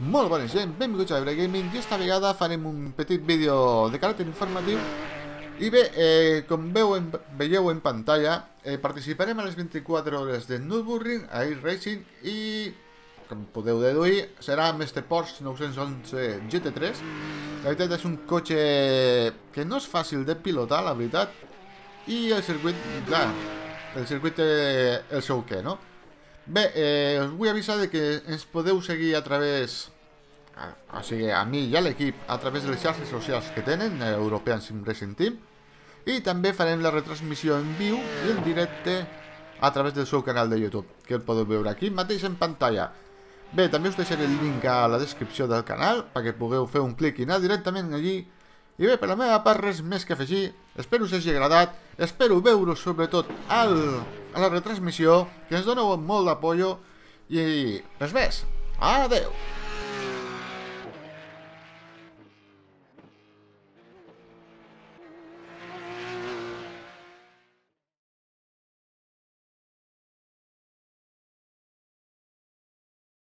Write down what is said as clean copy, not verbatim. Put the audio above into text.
Molt bona gent, benvinguts a Eurogaming i esta vegada farem un petit vídeo de caràcter informatiu. I bé, com veieu en pantalla, participarem a les 24 hores de Nürburgring a iRacing i, com podeu deduir, serà amb este Porsche 911 GT3. La veritat és un cotxe que no és fàcil de pilotar, la veritat, i el circuit, clar, el circuit té el seu què, no? Bé, us vull avisar de que ens podeu seguir a través, o sigui, a mi i a l'equip, a través de les xarxes socials que tenen, European Sim Racing Team, i també farem la retransmissió en viu i en directe a través del seu canal de YouTube, que el podeu veure aquí mateix en pantalla. Bé, també us deixaré el link a la descripció del canal perquè pugueu fer un clic i anar directament allí. I bé, per la meva part res més que afegir. Espero us hagi agradat, espero veure-us sobretot a la retransmissió, que ens doneu molt d'apoyo i res més. Adeu!